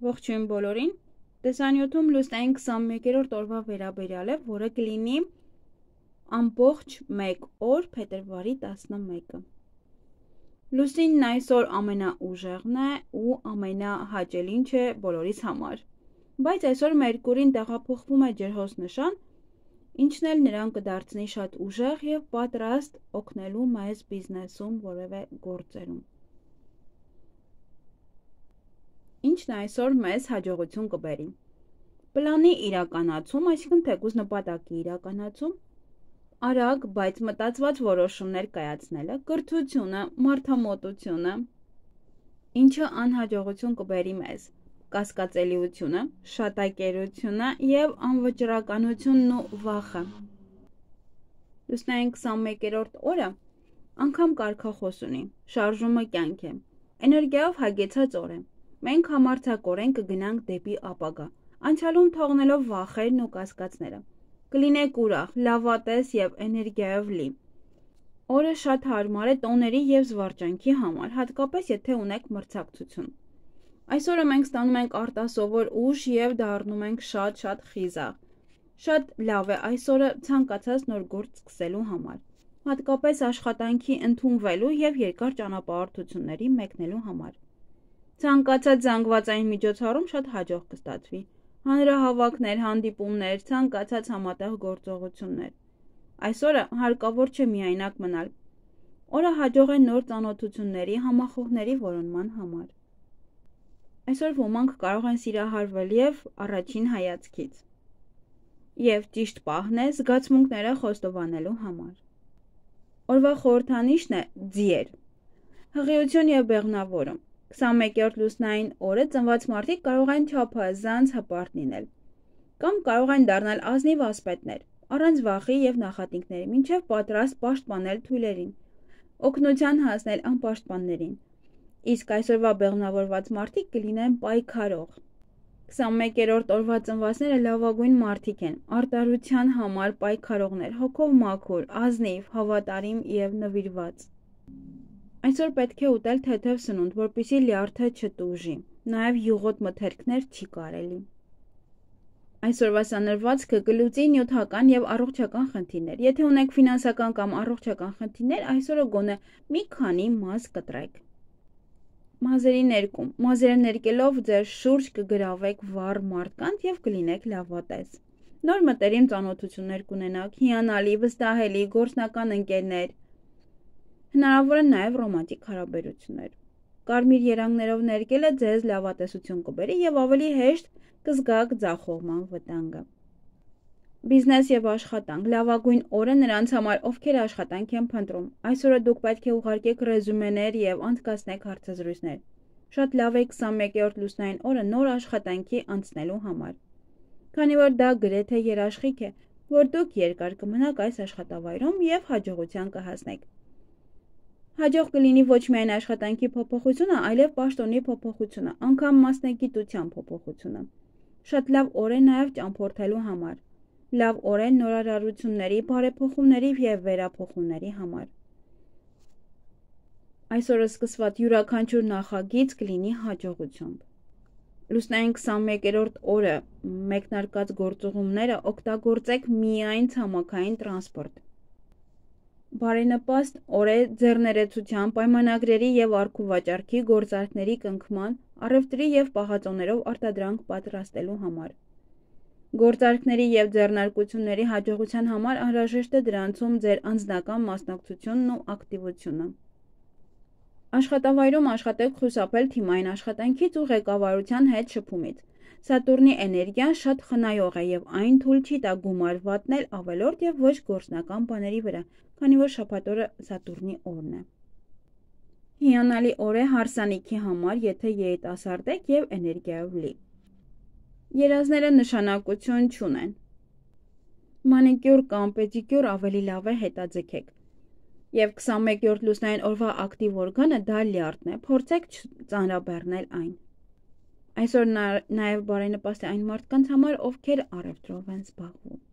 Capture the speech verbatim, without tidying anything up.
Ողջույն բոլորին, տեսանյութում լուսնային քսանմեկերորդ օրվա վերաբերյալ է, որը կլինի ամբողջ մեկ օր փետրվարի տասնմեկը։ Լուսինն այսօր ամենաուժեղն է ու ամենահաճելին չէ բոլորիս համար, բայց այսօր Մերկուրին տեղափոխվում է ջրհոսնշան, ինչն էլ նրան կդարձնի շատ ուժեղ և պատրաստ օգնելու մեզ բիզնեսում որևէ գործերում։ Ինչն այսօր մեզ հաջողություն կբերի։ Պլանի իրականացում, այսինքն թեկուզ նպատակի իրականացում, արագ, բայց մտածված որոշումներ կայացնելը, կրթությունը, մարդամոտությունը, ինչը անհաջողություն կբերի մեզ, կասկածելիությունը, շատակերությունը և անվճռականությունն ու վախը։ Լուսնային քսանմեկերորդ օրը անգամ կարգախոս ունի, շարժումը կյանք է, էներգիայով հագեցած օր է։ Մենք համարձակորեն կգնանք դեպի ապագա, անցյալում թողնելով վախերն ու կասկածները։ Կլինեք ուրախ, լավատես և էներգիայով լի։ Օրը շատ հարմար է տոների և զվարճանքի համար, հատկապես եթե ունեք մրցակցություն։ Այսօրը մենք ստանում ենք արտասովոր ուժ և դառնում ենք շատ-շատ խիզախ։ Շատ լավ է այսօրը ցանկացած նոր գործ սկսելու համար, հատկապես աշխատանքի ընդունվելու և երկար ճանապարհորդությունների մեկնելու համար։ Ցանկացած զանգվածային միջոցառում շատ հաջող կստացվի։ Հանրահավաքներ, հանդիպումներ, ցանկացած համատեղ գործողություններ։ Այսօրը հարկավոր չէ միայնակ մնալ։ Օրը հաջող է նոր ծանոթությունների, համախոհների որոնման համար։ Այսօր ոմանք կարող են սիրահարվել և առաջին հայացքից։ Եվ ճիշտ պահն է զգացմունքները խոստովանելու համար։ Օրվա խորհրդանիշն է ձիեր։ Հղիություն և բեղմնավորում։ քսանմեկերորդ լուսնային օրը ծնված մարդիկ կարող են չափազանց հպարտ լինել, կամ կարող են դառնալ ազնիվ ասպետներ, առանց վախի և նախատինքների, մինչև պատրաստ պաշտպանել թույլերին, օգնության հասնել անպաշտպաններին, իսկ այսօրվա բեղմնավորված մարդիկ կլինեն պայքարող։ քսանմեկերորդ օրվա ծնվածները լավագույն մարդիկ են, արտարության համար պայքարողներ, հոգով մաքուր, ազնիվ, հավատարիմ և նվիրված։ Այսօր պետք է ուտել թեթև սնունդ, որպեսզի լյարդը չտուժի, նաև յուղոտ մթերքներ չի կարելի։ Այսօրվա սանրվածքը կլուծի նյութական և առողջական խնդիրներ։ Եթե ունեք ֆինանսական կամ առողջական խնդիրներ, այսօրը գոնե մի քանի մազ կտրեք։ Մազերի ներկում։ Մազերը ներկելով ձեր շուրջ կգրավեք վառ մարդկանց և կլինեք լավատես։ Նոր մտերիմ ծանոթություններ կունենաք, հիանալի, վստահելի, գործնական ընկերներ։ Հնարավոր են նաև ռոմանտիկ հարաբերություններ։ Կարմիր երանգներով ներկելը ձեզ լավատեսություն կբերի և ավելի հեշտ կզգաք ձախողման վտանգը։ Բիզնես և աշխատանք։ Լավագույն օրը նրանց համար, ովքեր աշխատանք են փնտրում։ Այսօրը դուք պետք է ուղարկեք ռեզյումեներ և անցկացնեք հարցազրույցներ։ Շատ լավ է քսանմեկերորդ լուսնային օրը նոր աշխատանքի անցնելու համար, քանի որ դա գրեթե երաշխիք է, որ դուք երկար կմնաք այս աշխատավայրում և հաջողության կհասնեք։ Հաջող կլինի ոչ միայն աշխատանքի փոփոխությունը, այլև պաշտոնի փոփոխությունը, անգամ մասնագիտության փոփոխությունը։ Շատ լավ օր է նաև ճամփորդելու համար։ Լավ օր է նորարարությունների, բարեփոխումների և վերափոխումների համար։ Այսօրը սկսված յուրաքանչյուր նախագիծ կլինի հաջողությամբ։ Լուսնային քսանմեկերորդ օրը մեկնարկած գործուղումները օգտագործեք միայն ցամաքային տրանսպորտ։ Բարենպաստ օր է ձեռներեցության, պայմանագրերի և առքուվաճառքի գործարքների կնքման, առևտրի և պահածոներով արտադրանք պատրաստելու համար։ Գործարքների և ձեռնարկությունների հաջողության համար անհրաժեշտ է դրանցում ձեր անձնական մասնակցությունն ու ակտիվությունը։ Աշխատավայրում աշխատեք խուսափել թիմային աշխատանքից ու ղեկավարության հետ շփումից։ Սատուրնի էներգիան շատ խնայող է և այն թույլ չի տա գումար վատնել ավելորդ և ոչ գործնական բաների վրա, քանի որ շաբաթ օրը Սատուրնի օրն է։ Հիանալի օր է հարսանիքի համար, եթե երիտասարդ եք և էներգիայով լի։ Երազները նշանակություն չունեն։ Մանիկյուր կամ պեդիկյուր ավելի լավ է հետաձգեք։ Եվ քսանմեկերորդ լուսնային օրվա ակտիվ օրգանը դա լյարդն է, փորձեք չծանրաբեռնել այն։ Այսօր նաև բարենպաստ է այն մարդկանց համար, ովքեր առևտրով են զբաղվում։